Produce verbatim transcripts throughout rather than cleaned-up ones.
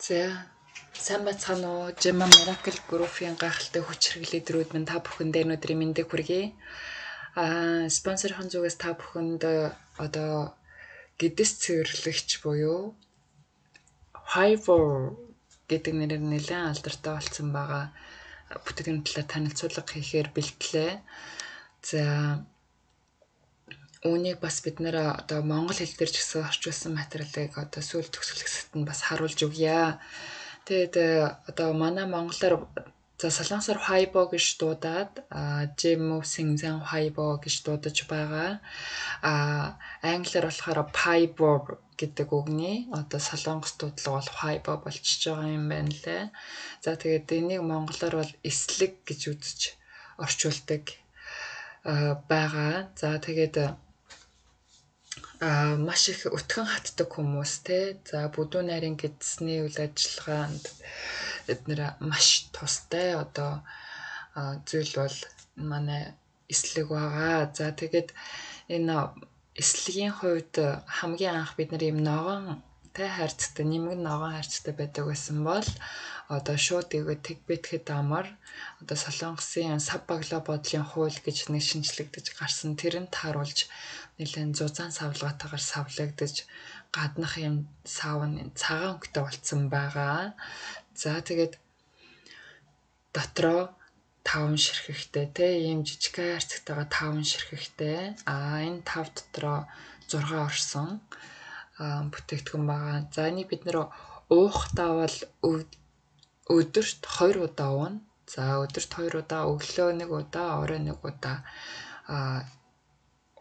За сайн бацхан уу Gemma Miracle Group-ийн гайхалтай хүч хэрэглээдрүүд минь та бүхэндээ өнөөдрийн мэндийг хүргэе. Аа спонсорын зүгээс та бүхэнд одоо гэдэс цэвэрлэгч буюу Fiverr гэдэг нэрээр нэлээд алдартай болсон байгаа бүтээгдэхүүн талаар танилцуулга хийхээр бэлтлээ. За үүнийг бас бид нэр одоо монгол хэл дээр ч гэсэн орчуулсан материалыг одоо сүүл төгсгөлсөд нь бас харуулж өгье. Тэгээд одоо манай монголоор за солонгосоор Weibo гэж дуудаад Gemma Singzan Weibo гэж дуудаж байгаа. А англиар болохоор Fiverr гэдэг үгний одоо солонгос дуудлага бол Weibo болчихж байгаа юм байна лээ. За тэгээд энийг монголоор бол эслэг гэж үзэж орчуулдаг байгаа. За тэгээд а маш их өтгөн хатдаг хүмүүс те. За бүдүүн нарийн гэдэсний үйл ажиллагаанд эднэр маш тустай одоо зүйл бол манай эслэг байгаа. За тэгээд энэ эслэгийн хувьд хамгийн анх бид нар юм ногоонтэй хайрцагтай нэмэг ногоон хайрцагтай байдаг байсан бол одоо шууд игээ тэгбэтгэд амар одоо солонгосын сав баглаа бодлын хууль гэж нэг шинжлэгдэж гарсан тэрэнд тааруулж нэлээд зузаан савлгаатайгаар савлагдаж гаднах юм сав нь цагаан өнгөтэй болцсон байгаа. За тэгээд дотроо таван ширхэгтэй те ийм жижиг хайрцагтайгаа таван ширхэгтэй. А энэ тав дотроо зургаа орсон бүтээгдэхүүн байгаа. За энийг бид нэр уухтаа бол өдөрт хоёр удаа уuna. За өдөрт хоёр удаа, өглөө нэг удаа, орой нэг удаа а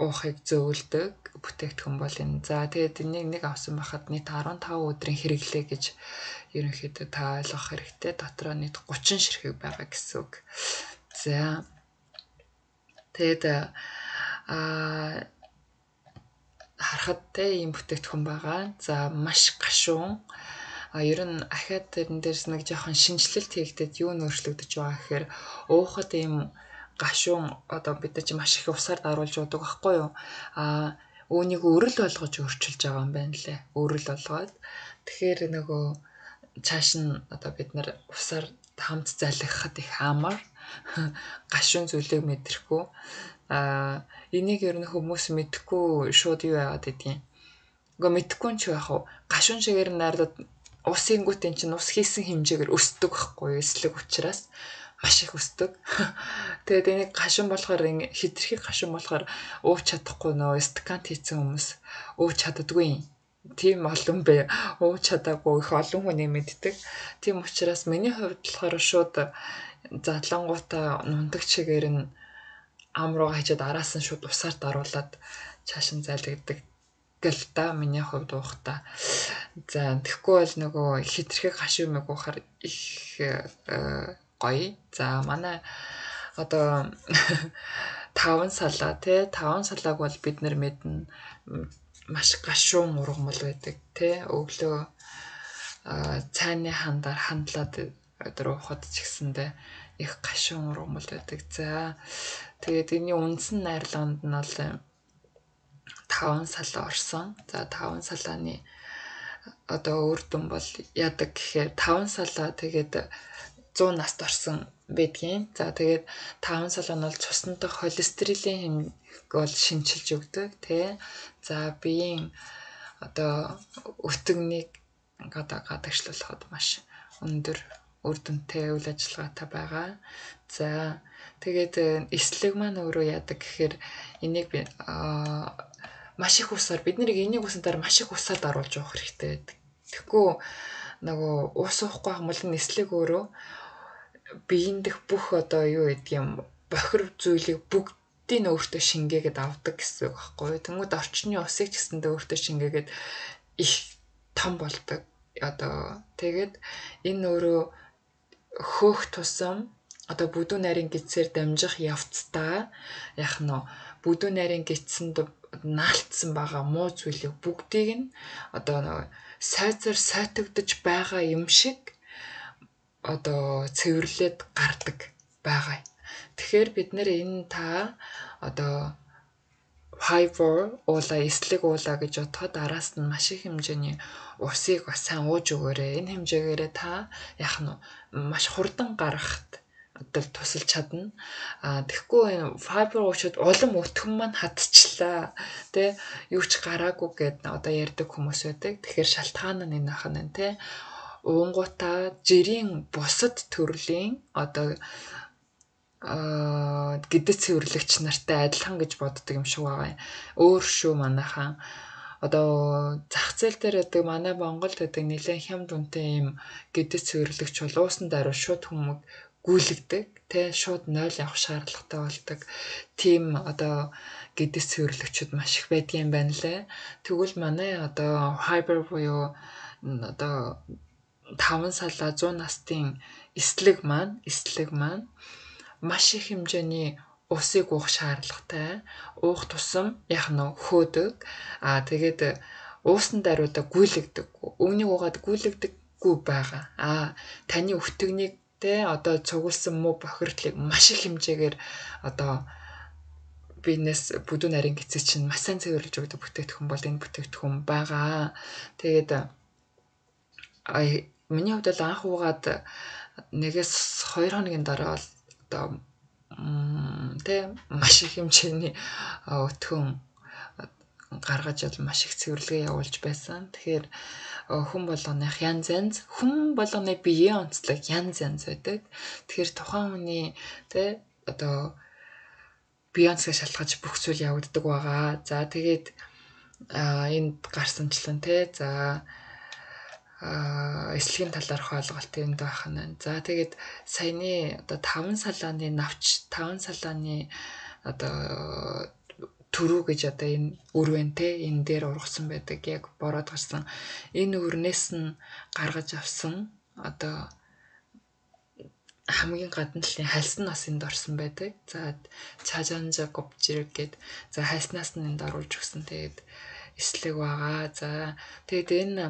уухыг зөвлөдөг бүтээгдэхүүн бол энэ. За тэгээд энийг нэг авсан байхад нийт арван таван өдрийн хэрэглээ гэж ерөнхийдөө та ойлгох хэрэгтэй. Дотроо нийт гучин ширхэг байгаа гэсэн үг. За тэгээд а харахад те ийм бүтээгдэхүүн байгаа. За маш гашуун. А ер нь ахаад тэрэн дээрс нэг жоохон шинжилэлт хийгдээд юу нөөцлөгдөж байгаа гэхээр уухад ийм гашуун одоо бид нар чи маш их усаар даруулж удаг байхгүй юу? А үүнийг өрөл болгож өөрчилж байгаа юм байна лээ. Өрөл болгоод. Тэгэхээр нөгөө цааш нь одоо бид нар усаар хамт залгихад их амар гашуун зүйлийг мэдрэхгүй. А энийг ер нь хүмүүс мэдхгүй шууд юу яагаад гэдгийг. Угаа мэдхгүй ч байх уу? Гашуун шигээр найрлаад усын гүтэн чинь ус хийсэн хэмжээгээр өсдөг байхгүй юу? Эслэг учраас маш их өсдөг. Тэгээд энийг гашуун болохоор хитрхи гашуун болохоор ууж чадахгүй нөө стакант хийсэн хүмүүс ууж чаддаггүй. Тийм олон бай. Ууж чадаагүй их олон хүний мэддэг. Тийм учраас миний хувьд болохоор шууд задлангуудаа нундаг чигээр нь амрууга хичээд араас нь шууд усаар даруулад цааш нь залгиддаг гэл та миний хувьд уухта. За тэгэхгүй бол нөгөө хитрхи гашуун мэг уухаар их гоё. За манай одоо таван салаа те таван салааг бол бид нар мэднэ маш гашуун ургамал байдаг те. Өглөө цайны хандаар хандлаад өдөр уухад ч гэсэндээ их гашуун ургамал байдаг. За тэгээд энэ үндсэн найрлаганд нь бол таван салаа орсон. За таван салааны одоо үр дүн бол яадаг гэхээр таван салаа тэгээд зуун наст орсон байдгийн. За тэгээд таван салаа нь бол цусантай холестерилийн хэмжээг бол шинчилж өгдөг тий. За биеийн одоо өтгөнийг гадагшлуулахад маш өндөр үр дүнтэй үйл ажиллагаатай байгаа. За тэгээд эслэг маань өөрөө яадаг гэхээр энийг би маш их усаар бид нэр энийг усантаар маш их усаар даруулж явах хэрэгтэй байдаг. Тэгэхгүй нөгөө ус уухгүй юм бол эслэг өөрөө биеийн дэх бүх одоо юу гэдэг юм бохир зүйлийг бүгдийг өөртөө шингээгээд авдаг гэсэн үг байхгүй юу? Тэнгүүд орчны усыг ч гэсэндээ өөртөө шингээгээд их том болдог. Одоо тэгээд энэ өөрөө хөөх тусам одоо бүдүүн нарийн гидсээр дамжих явцдаа яг нь бүдүүн нарийн гидсэнд наалтсан байгаа муу зүйлийг бүгдийг нь одоо сайзаар сайтагдж байгаа юм шиг одоо цэвэрлээд гардаг байгаа. Тэгэхээр бид нэр энэ та одоо fiber уула эслэг уула гэж бодоход араас нь маш их хэмжээний усыг бас сайн ууж өгөөрэй. Энэ хэмжээгээрээ та яах нь маш хурдан гаргахад одоо тусалж чадна. А тэгэхгүй энэ fiber уучууд улам өтгөн маань хатчлаа. Тэ юу ч гараагүй гэд одоо ярьдаг хүмүүс байдаг. Тэгэхээр шалтгаан нь энэ ахна тэ уунгуудаа жирийн бусад төрлийн одоо а гэдэц цэвэрлэгч нартай адилхан гэж боддог юм шиг байгаа юм. Өөр шүү манайхан. Одоо зах зээл дээр байдаг манай Монголд байдаг нэлээд хямд үнэтэй юм гэдэц цэвэрлэгч бол уусан даруй шууд хүмүүг гүйлэгдэг. Тэ шууд ноль явах шаардлагатай болдог. Тим одоо гэдэц цэвэрлэгчүүд маш их байдаг юм байна лээ. Тэгвэл манай одоо fiber буюу одоо таван салаа зуун настын эслэг маань эслэг маань маш их хэмжээний усыг уух шаардлагатай. Уух тусам яг нь хөөдөг. Аа тэгээд уусан даруйдаа гүйлэгдэг. Өвнийг уугаад гүйлэгдэггүй байгаа. Аа таны өвтгнийг тэ одоо цугулсан муу бохирдлыг маш их хэмжээгээр одоо бизнес бүдүүн нарийн гэцээ чинь маш сайн цэвэрлэж өгдөг бүтээгдэхүүн бол энэ бүтээгдэхүүн байгаа. Тэгээд ай миний хувьд бол анх уугаад нэгээс хоёр хоногийн дараа бол одоо тэ маш их хэмжээний өтгөн гаргаж бол маш их цэвэрлэгээ явуулж байсан. Тэгэхээр хүн болгоных янз янз хүн болгоны биеийн онцлог янз янз байдаг. Тэгэхээр тухайн хүний тэ одоо биеийн онцлог шалтгаалж бүх зүйл явагддаг байгаа. За тэгээд энд гарсанчлан тэ за а эслэгийн талаарх ойлголт энд байх нь. За тэгээд саяны одоо таван салааны навч таван салааны одоо төрүү гэж одоо энэ өрвэн те энэ дээр ургасан байдаг яг бороод гарсан. Энэ өрнөөс нь гаргаж авсан одоо хамгийн гадна талын хальс нь бас энд орсон байдаг. За чажанжа говжирэг гэд за хальснаас нь энд оруулж өгсөн. Тэгээд эслэг байгаа. За тэгээд энэ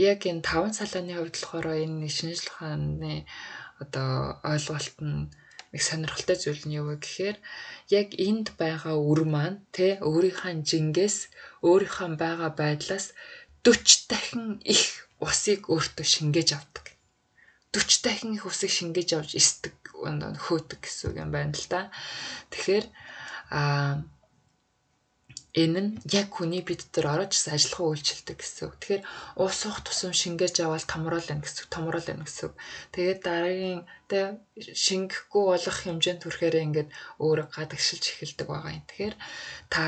яг энэ таван салааны хувьд болохоор энэ шинжлэх ухааны одоо ойлголт нь нэг сонирхолтой зүйл нь юу вэ гэхээр яг энд байгаа үр маань тэ өөрийнхөө жингээс өөрийнхөө байгаа байдлаас дөрвөн дахин их усыг өөртөө шингээж авдаг. дөрвөн дахин их усыг шингээж авч эсдэг хөөдөг гэсэн үг юм байна л да. Тэгэхээр а энэ нь яг хүний бие дотор орж ирсэн ажиллахаа үйлчилдэг гэсэн үг. Тэгэхээр уус уух тусам шингээж аваад томруулна гэсэн үг, томруулна гэсэн үг. Тэгээд дараагийн тэ шингэхгүй болох хэмжээнд хүрэхээр ингээд өөрөө гадагшилж эхэлдэг байгаа юм. Тэгэхээр та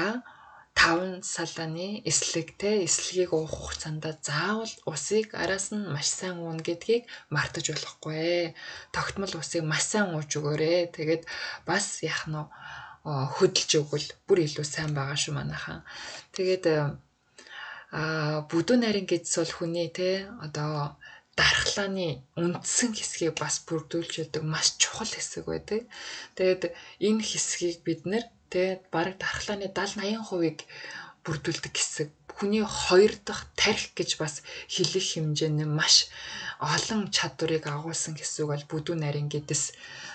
таван салааны эслэг тэ эслэгийг уух хугацаанд заавал усыг араас нь маш сайн ууна гэдгийг мартаж болохгүй. Тогтмол усыг маш сайн ууж өгөөрэй. Тэгээд бас яах нь хөдөлж өгвөл бүр илүү сайн байгаа шүү манайхан. Тэгээд а бүдүүн нарийн гэдэс бол хүний те одоо дархлааны үндсэн хэсгийг бас бүрдүүлж яадаг маш чухал хэсэг байдаг. Тэгээд энэ хэсгийг бид нэр те бараг дархлааны даал наяан хувийг бүрдүүлдэг хэсэг. Хүний хоёр дахь тарих гэж бас хэлэх хэмжээний маш олон чадварыг агуулсан хэсэг бол бүдүүн нарийн гэдэс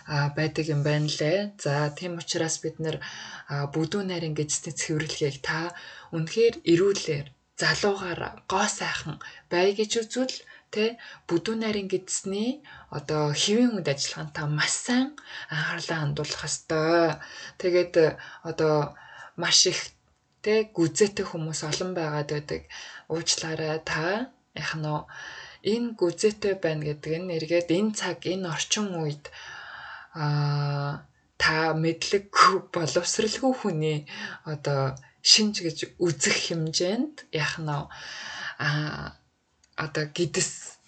байдаг юм байна лээ. За тийм учраас бид нэр бүдүүн нарийн гэдэсний цэвэрлэгийг та үнэхээр эрүүлэр залуугаар гоо сайхан бай гэж үзвэл тэ бүдүүн нарийн гэдэсний одоо хэвийн үнд ажиллагаанд та маш сайн анхаарлаа хандуулах ёстой. Тэгээд одоо маш их тэ гүзээтэй хүмүүс олон байгаад байдаг. Уучлаарай та яг нь энэ гүзээтэй байна гэдэг нь эргээд энэ цаг энэ орчин үед а та мэдлэггүй боловсралгүй хүний одоо шинж гэж үзэх хэмжээнд яг нь а одоо гэдэс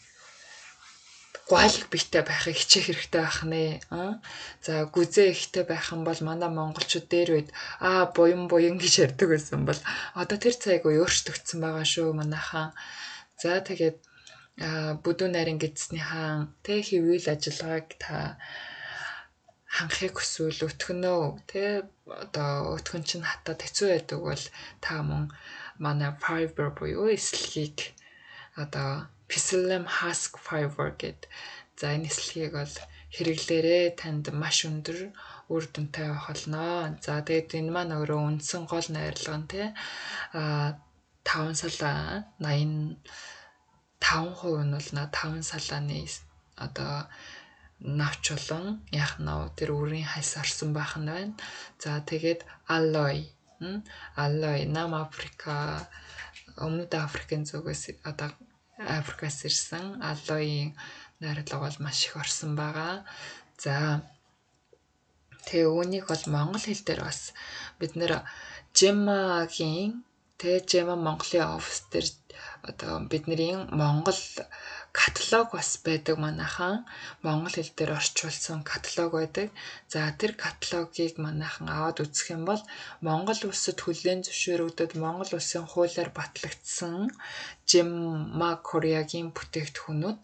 гуайлаг биетэй байхыг хичээх хэрэгтэй байх нэ. За гүзээ ихтэй байх юм бол манай монголчууд дээр үед аа буян буян гэж ярьдаг байсан бол одоо тэр цагийг өөрчлөгдсөн байгаа шүү манайхан. За тэгээд бүдүүн нарийн гэдэсний хаан тэ хэвүүл ажиллагааг та ханхыг хүсвэл өтгөнөө тэ одоо өтгөн чинь хатаад хэцүү байдаг бол та мөн манай fiber буюу эслэгийг одоо Psyllium husk fiber гэд за энэ эслэгийг бол хэрэглээрээ танд маш өндөр үр дүнтэй байх болно. За тэгээд энэ маань өөрөө үндсэн гол найрлага нь тий а таван салаа восемь таван хувь нь бол на таван салааны одоо навч болон яах нь тэр үрийн хайс орсон байх нь байна. За тэгээд алой алой Нам Африка Өмнөд Африкийн зүгээс одоо Африкаас ирсэн алоийн найрлага бол маш их орсон байгаа. За тэгээ үүнийг бол монгол хэл дээр бас бид нэр Жемагийн тэгээ Жема Монголын офис дээр одоо бидний монгол каталог бас байдаг манайхан монгол хэл дээр орчуулсан каталог байдаг. За тэр каталогийг манайхан аваад үзэх юм бол Монгол улсад хүлээн зөвшөөрөгдөд Монгол улсын хуулиар батлагдсан Жема Кореагийн бүтээгдэхүүнүүд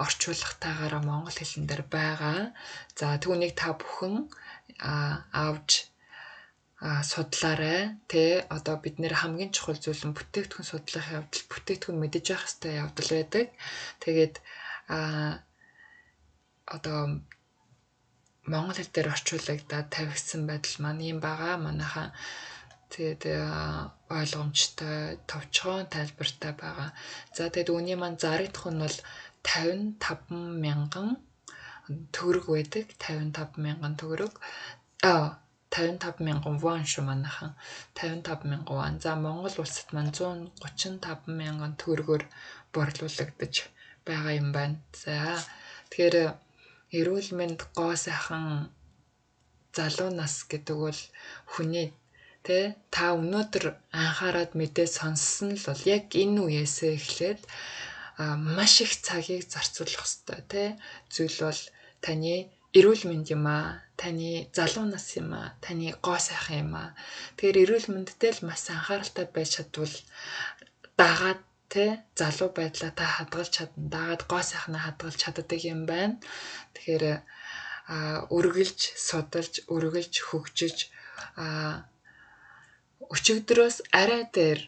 орчуулгатайгаараа монгол хэлэн дээр байгаа. За түүнийг та бүхэн авч судлаарай. Тэ одоо бид нэр хамгийн чухал зүйл нь бүтээгдэхүүн судлах явдал, бүтээгдэхүүн мэдэж явах хэрэгтэй явдал байдаг. Тэгээд а одоо монгол хэл дээр орчуулагдаад тавигдсан байдал маань юм байгаа. Манайхаа тэгээд ойлгомжтой, товчхон тайлбартай байгаа. За тэгээд үүний маань зарагдах нь бол тавин таван мянган төгрөг байдаг. тавин таван мянган төгрөг. Аа тавин таван мянган вон шүү манайхан. тавин таван мянган вон. За Монгол улсад маань зуун гучин таван мянган төгрөгөөр борлуулагдаж байгаа юм байна. За тэгэхээр эрүүл мэнд гоо сайхан залуу нас гэдэг бол хүний тэ та өнөөдөр анхаарад мэдээ сонссон л бол яг энэ үеэсээ эхлээд маш их цагийг зарцуулах хэрэгтэй тэ зүйл бол таны эрүүл мэнд юм аа, таны залуу нас юм аа, таны гоо сайхан юм аа. Тэгэхээр эрүүл мэндэд л маш анхааралтай байж чадвал дагаад тэ залуу байдлаа та хадгалж чадна. Дагаад гоо сайхнаа хадгалж чаддаг юм байна. Тэгэхээр үргэлж судалж, үргэлж хөгжиж өчигдрөөс арай дээр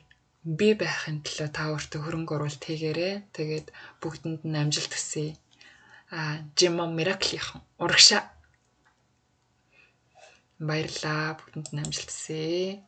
бий байхын төлөө та өөртөө хөрөнгө оруулалт хийгээрэй. Тэгээд бүгдэнд нь амжилт хүсье. А Жема Мираклийнхан урагшаа баярлалаа, бүгдэнд нь амжилт хүсье.